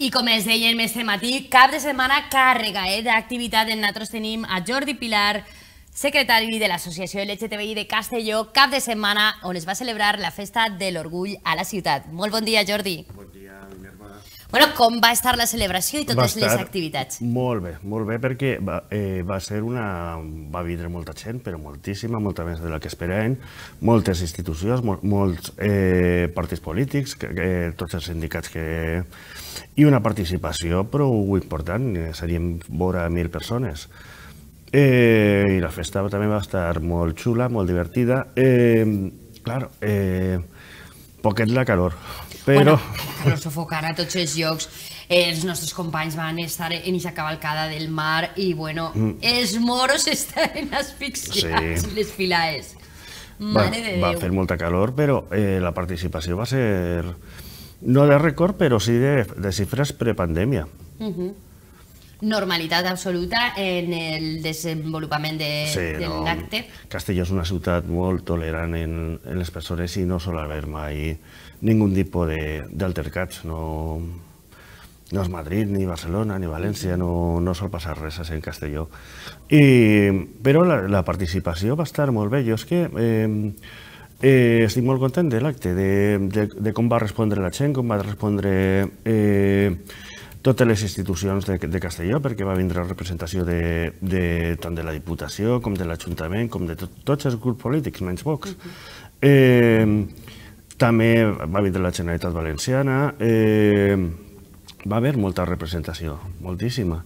I com es deien més matí, cap de setmana càrrega d'activitat. Nosaltres tenim a Jordi Pilar, secretari de l'Associació LGTBI de Castelló, cap de setmana on es va celebrar la Festa de l'Orgull a la ciutat. Molt bon dia, Jordi. Bon dia, Minerva. Bueno, com va estar la celebració i totes les activitats? Molt bé, perquè va vindre molta gent, però moltíssima, molta més de la que esperàvem, moltes institucions, molts partits polítics, tots els sindicats i una participació prou important, seríem vora 1.000 persones. I la festa també va estar molt xula, molt divertida. Clar, poquet la calor, però... Bueno, sofocant a tots els llocs. Els nostres companys van estar en aquesta cavalcada del mar i, bueno, els moros estaven asfixiats, les filaes. Mare de Déu. Va fer molta calor, però la participació va ser, no de rècord, però sí de xifres prepandèmia. Normalitat absoluta en el desenvolupament de l'acte. Castelló és una ciutat molt tolerant en les persones i no sol haver mai ningú tipus d'altercats. No és Madrid, ni Barcelona, ni València, no sol passar res en Castelló. Però la participació va estar molt bé. Jo és que estic molt content de l'acte, de com va respondre la gent, com va respondre totes les institucions de Castelló, perquè va vindre representació tant de la Diputació com de l'Ajuntament, com de tots els grups polítics, menys Vox. També va vindre la Generalitat Valenciana, va haver molta representació, moltíssima.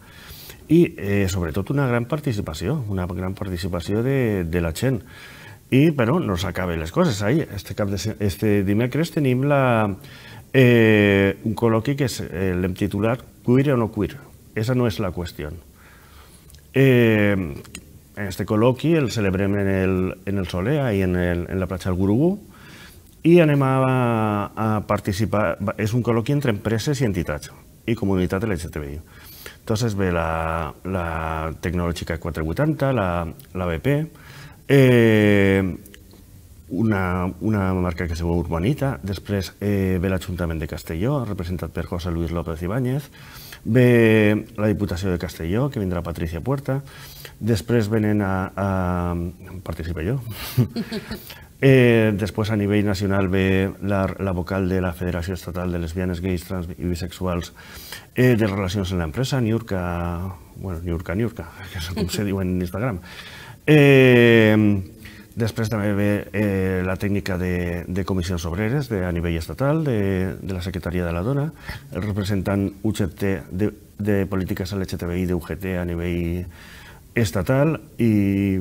I sobretot una gran participació de la gent. Però no s'acaben les coses. Este dimecres tenim un col·loqui que l'hem titulat Queer o no queer. Esa no és la qüestió. Este col·loqui el celebrem en el Soler, ahí en la platja del Gurugú, i anem a participar. És un col·loqui entre empreses i entitats i comunitat LGTBI. Entonces ve la Tecnològica 480, la BP, una marca que se diu Urbanita, després ve l'Ajuntament de Castelló, representat per José Luis López Ibáñez, ve la Diputació de Castelló, que vindrà Patricia Puerta, després venen participo jo. Després a nivell nacional ve la vocal de la Federació Estatal de Lesbianes, Gais, Trans i Bisexuals de Relacions en l'Empresa, Niurka, que és com se diu en Instagram. Després també ve la tècnica de comissions obreres a nivell estatal, de la Secretaria de la Dona, el representant UGT de polítiques LGTBI d'UGT a nivell estatal, i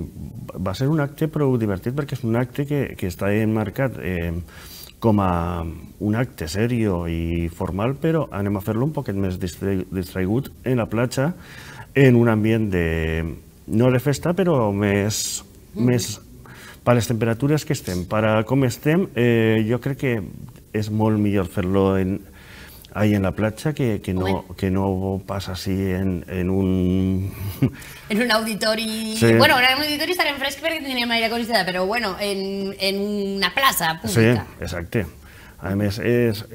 va ser un acte prou divertit perquè és un acte que està emmarcat com a un acte serio i formal, però anem a fer-lo un poquet més distraigut en la platja, en un ambient no de festa, però més per les temperatures que estem, per com estem, jo crec que és molt millor fer-lo ahí en la platja que no passa així en un... En un auditori... Bueno, en un auditori estarem fresc perquè tindríem aire acondicionat, però bueno, en una plaça pública. Sí, exacte. A més, és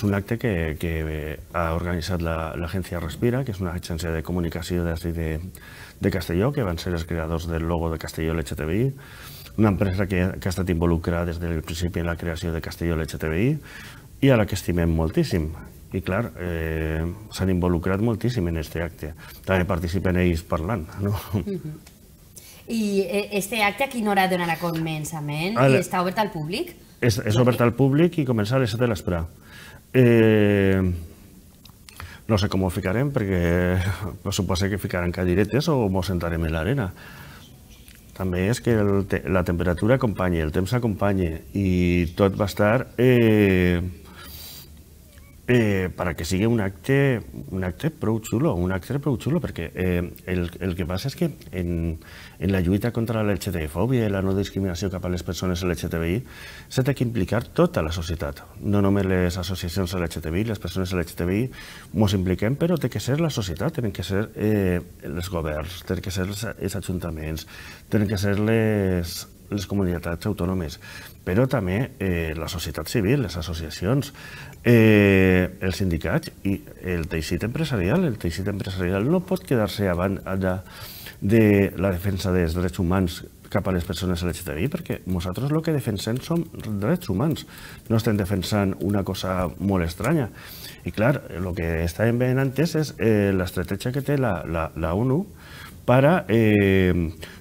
un acte que ha organitzat l'agència Respira, que és una agència de comunicació de Castelló, que van ser els creadors del logo de Castelló LGTBI, una empresa que ha estat involucrada des del principi en la creació de Castelló LGTBI i a la que estimem moltíssim. I clar, s'han involucrat moltíssim en aquest acte. També participen ells parlant, no? I aquest acte a quina hora donarà començament? I està obert al públic? És obert al públic i comença a les 7 de l'espre. No sé com ho ficarem, perquè suposo que ficaran cadiretes o ens sentarem en l'arena. També és que la temperatura acompanyi, el temps acompanyi, i tot va estar perquè sigui un acte prou xulo, perquè el que passa és que en la lluita contra la LGTB-fòbia i la no discriminació cap a les persones LGTBI s'ha de implicar tota la societat, no només les associacions LGTBI, les persones LGTBI ens impliquem, però té que ser la societat, tenen que ser els governs, tenen que ser els ajuntaments, tenen que ser les comunitats autònomes, però també la societat civil, les associacions, els sindicats i el teixit empresarial. El teixit empresarial no pot quedar-se abans de la defensa dels drets humans cap a les persones LGTBI, perquè nosaltres el que defensem són drets humans, no estem defensant una cosa molt estranya. I clar, el que estàvem veient antes és l'estratègia que té la ONU per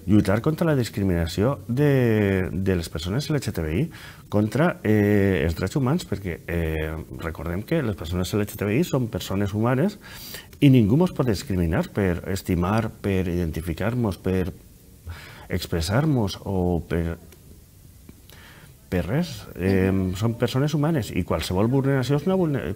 lluitar contra la discriminació de les persones LGTBI, contra els drets humans, perquè recordem que les persones LGTBI són persones humanes i ningú ens pot discriminar per estimar, per identificar-nos, per expressar-nos o per res. Són persones humanes i qualsevol vulneració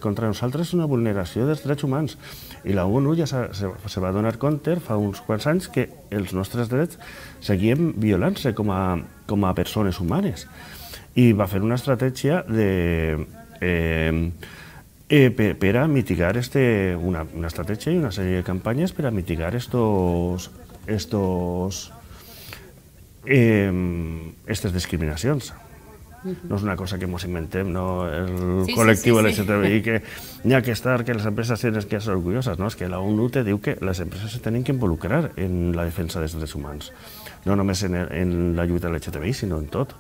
contra nosaltres és una vulneració dels drets humans. I la ONU ja se va donar compte fa uns quants anys que els nostres drets seguien violant-se com a persones humanes. I va fer una estratègia per a mitigar una estratègia i una sèrie de campanyes per a mitigar aquestes discriminacions. No és una cosa que ens inventem, el col·lectiu LGTBI, que n'hi ha que estar, que les empreses tenen que ser orgulloses. És que la ONU te diu que les empreses se tenen que involucrar en la defensa dels drets humans, no només en la lluita LGTBI, sinó en tot.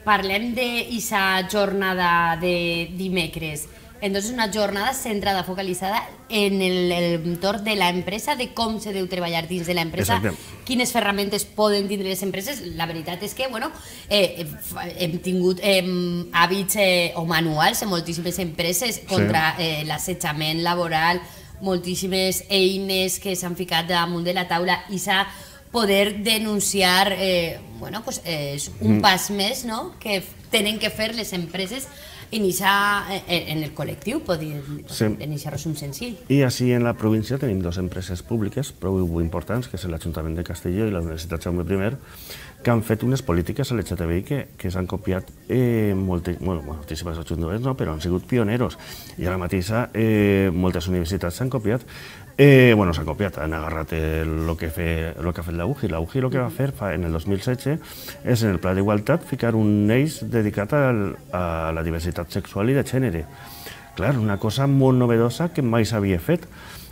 Parlem d'aquesta jornada de dimecres. Entonces, una jornada centrada, focalitzada en l'entorn de l'empresa, de com se deu treballar dins de l'empresa, quines ferramentes poden tindre les empreses. La veritat és que hem tingut hàbits o manuals en moltíssimes empreses contra l'assetjament laboral, moltíssimes eines que s'han ficat damunt de la taula i s'ha poder denunciar és un pas més que tenen que fer les empreses iniciar en el col·lectiu, en aquest resum senzill. I així en la província tenim dues empreses públiques prou importants, que és l'Ajuntament de Castelló i la Universitat Jaume I, que han fet unes polítiques LGTBI que s'han copiat moltíssimes ajuntaments, però han sigut pioneros. I ara mateix moltes universitats s'han copiat. S'han copiat, han agarrat el que ha fet la UGI. La UGI el que va fer en el 2016 és en el Pla d'Igualtat ficar un eix dedicat a la diversitat sexual i de gènere. Clar, una cosa molt novedosa que mai s'havia fet.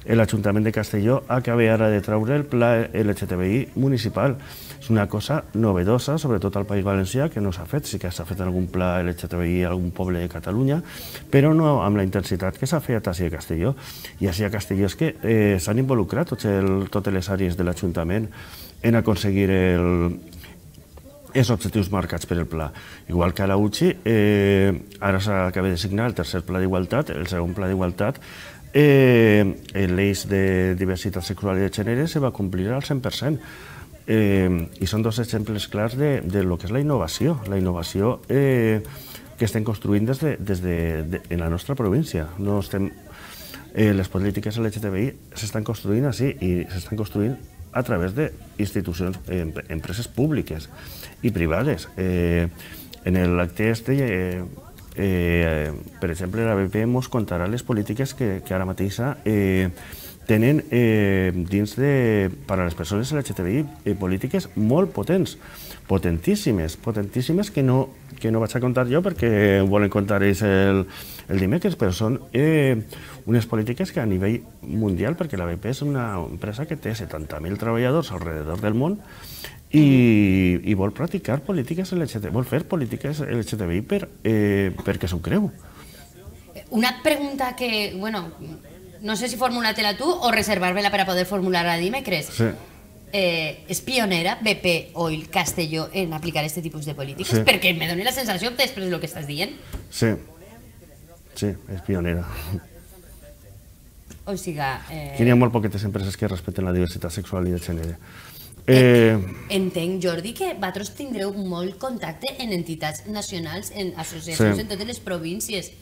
L'Ajuntament de Castelló acaba ara de treure el Pla LGTBI municipal. És una cosa novedosa, sobretot al País Valencià, que no s'ha fet. Sí que s'ha fet algun Pla LGTBI a algun poble de Catalunya, però no amb la intensitat que s'ha fet així a Castelló. I així a Castelló és que s'han involucrat totes les àrees de l'Ajuntament en aconseguir els objectius marcats per el pla. Igual que a la UCI, ara s'acaba de signar el tercer Pla d'Igualtat, el segon Pla d'Igualtat, l'eix de diversitat sexual i de gènere se va complir al 100%. I són dos exemples clars de lo que és la innovació que estem construint en la nostra província. Les polítiques LGTBI s'estan construint així i s'estan construint a través d'institucions, empreses públiques i privades. En l'acte per exemple, la BP ens contarà les polítiques que ara mateix tenen dins per a les persones LGTBI polítiques molt potents, potentíssimes que no vaig a contar jo perquè ho volen contar ells el dimecres, però són unes polítiques que a nivell mundial, perquè la BP és una empresa que té 70.000 treballadors alrededor del món i vol practicar polítiques LGTBI, vol fer polítiques LGTBI perquè s'ho creu. Una pregunta que, no sé si formular-te-la tu o reservar-me-la per a poder formular-la dimecres. Sí. És pionera BP Oil Castelló en aplicar aquest tipus de polítiques? Perquè me dona la sensació després del que estàs dient. Sí, és pionera. O sigui... N'hi ha molt poquetes empreses que respecten la diversitat sexual i de gènere. Entenc, Jordi, que vosaltres tindreu molt contacte en entitats nacionals, en associacions en totes les províncies.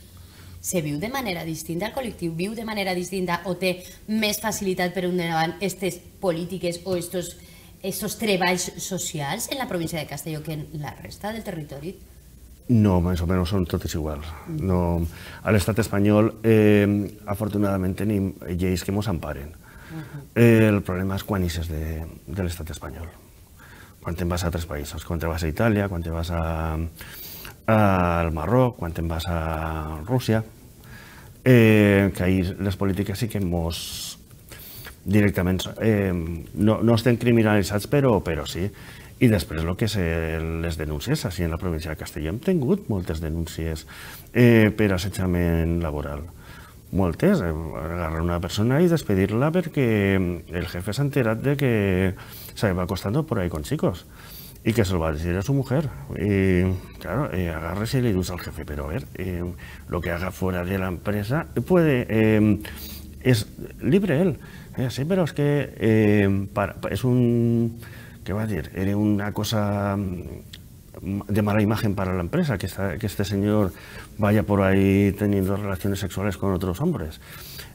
Se viu de manera distinta, el col·lectiu viu de manera distinta o té més facilitat per endavant aquestes polítiques o aquests treballs socials en la província de Castelló que en la resta del territori? No, més o menys són totes iguals. A l'estat espanyol, afortunadament, tenim lleis que ens emparen. El problema és quan ixes de l'estat espanyol. quan te'n vas a altres països, quan te vas a Itàlia, quan te vas al Marroc, quan te'n vas a Rússia, que ahir les polítiques sí que mos directament no estem criminalitzats, però sí. I després el que és les denúncies, així en la província de Castelló hem tingut moltes denúncies per assetjament laboral. Moltes, agarrar una persona y despedirla porque el jefe se ha enterado de que se va acostando por ahí con chicos y que se lo va a decir a su mujer. Y claro, agarres y le dices al jefe, pero a ver, lo que haga fuera de la empresa es libre él. Sí, pero es que es un, ¿qué va a decir? Era una cosa de mala imagen para la empresa, que este señor vaya por ahí teniendo relaciones sexuales con otros hombres.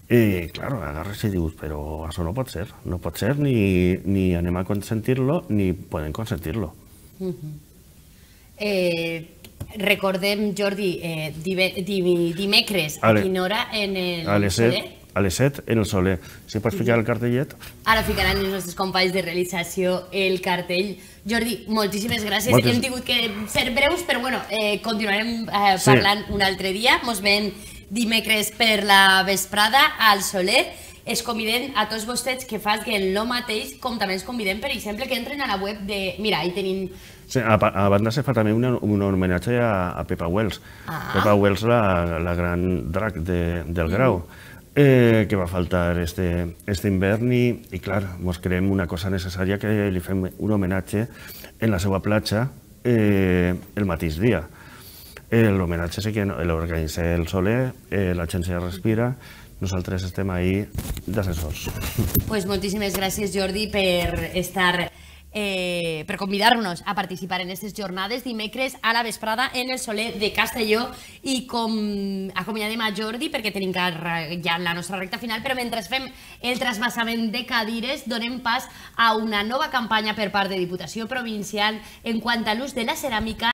Y claro, agarres y dius, pero eso no pot ser, ni anem a consentir-lo, ni poden consentir-lo. Recordem, Jordi, dimecres, a quina hora en el Soler? A les 7 en el Soler. Si pots ficar el cartellet. Ara ficaran els nostres companys de realització el cartell. Jordi, moltíssimes gràcies. Hem tingut que ser breus, però bueno, continuarem parlant un altre dia. Mos veiem dimecres per la vesprada al Soler. Es convidem a tots vostès que facin el mateix, com també ens convidem, per exemple, que entren a la web de... Mira, ahí tenim... Sí, a banda se fa també un homenatge a Pepa Wells. Pepa Wells, la gran drac del Grau, que va faltar este hivern i clar, ens creiem una cosa necessària que li fem un homenatge en la seva platja el mateix dia. L'homenatge sí que l'organitza el Soler, l'agència Respira, nosaltres estem ahí d'assessors. Pues moltíssimes gràcies, Jordi, per estar... per convidar-nos a participar en aquestes jornades dimecres a la vesprada en el Soler de Castelló i com acomiadem a Jordi perquè tenim ja la nostra recta final, però mentre fem el trasbassament de cadires donem pas a una nova campanya per part de Diputació Provincial en quant a l'ús de la ceràmica